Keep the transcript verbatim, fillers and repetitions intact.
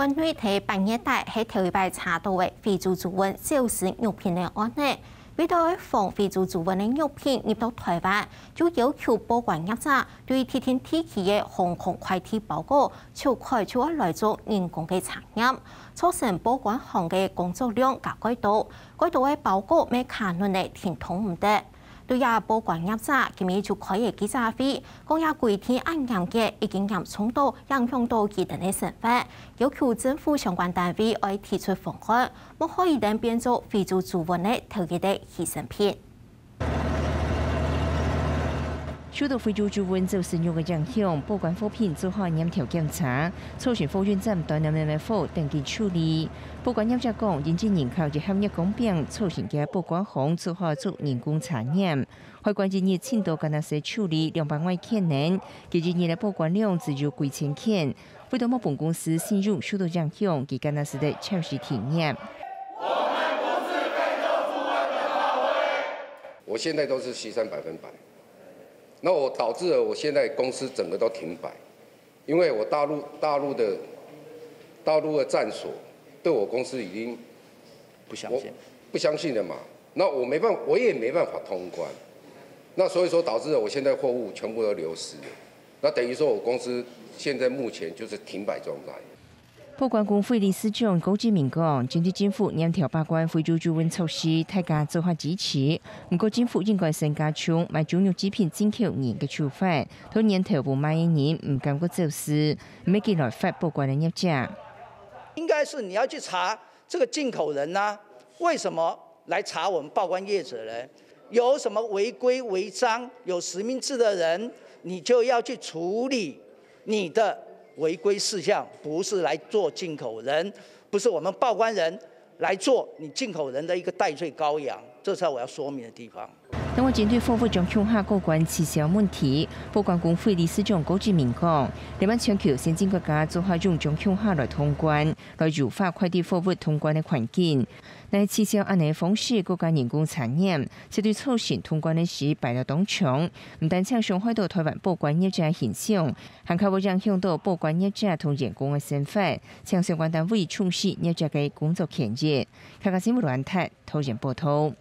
案內在八月底係頭一擺查到个非洲豬瘟走私肉品个案例。為著愛防非洲豬瘟个肉品入到臺灣，就要求報關業者對特定地區个航空快遞包裹，就開就愛來做人工个查驗，造成報關行个工作量加蓋多，蓋多个包裹乜卡輪仔停動毋得。 對這報關業者今日就開个記者會，講這規定恁嚴格，已經嚴重到影響到佢等个生活，要求政府相關單位愛提出方案，莫害佢等變做非洲豬瘟个頭一个犧牲品。受到非洲豬瘟走私肉个影響，報關貨品做好嚴條檢查，造成貨運站斷斷續續个貨等緊處理。報關業者講，因為人口一合一公頃，造成个報關行做好做人工查驗。 海關一日盡多間仔處理兩百外件呢，佢一日个報關量只有幾千件，為著無分公司信用受到影響，佢間仔得暫時停業。我現在都是犧牲百分百，那我導致了我現在公司整個都停擺，因為我大陸大陸的大陸的站所對我公司已經不相信，不相信了嘛。 那我没办，我也没办法通关。那所以说导致了我现在货物全部都流失了。那等于说我公司现在目前就是停摆状态。報關公會理事長高志明講，針對政府嚴條把關非洲豬瘟措施，大家做好支持。毋過政府應該先加重買豬肉製品進口人个處罰，對源頭無賣个人毋敢過走私，毋係佢來罰報關个業者。應該是你要去查這個進口人呢，為什麼來查我們報關業者呢？有什麼違規違章、有實名制的人，你就要去處理你的違規事項，不是來做進口人，不是我們報關人來做你進口人的一個代罪羔羊，這才是我要說明的地方。 另外，針對貨物將共下過關滯銷問題，報關公會理事長高志明講，這擺全球先進國家做好用將共下來通關，來優化快遞貨物通關个環境。若係滯銷恁呢方式，過加人工查驗，絕對造成通關个時排了當長，毋單淨傷害到臺灣報關業者个形象，還較會影響到報關業者同員工个生活，請相關單位重視業者个工作權益。客家新聞羅安泰，桃園報導。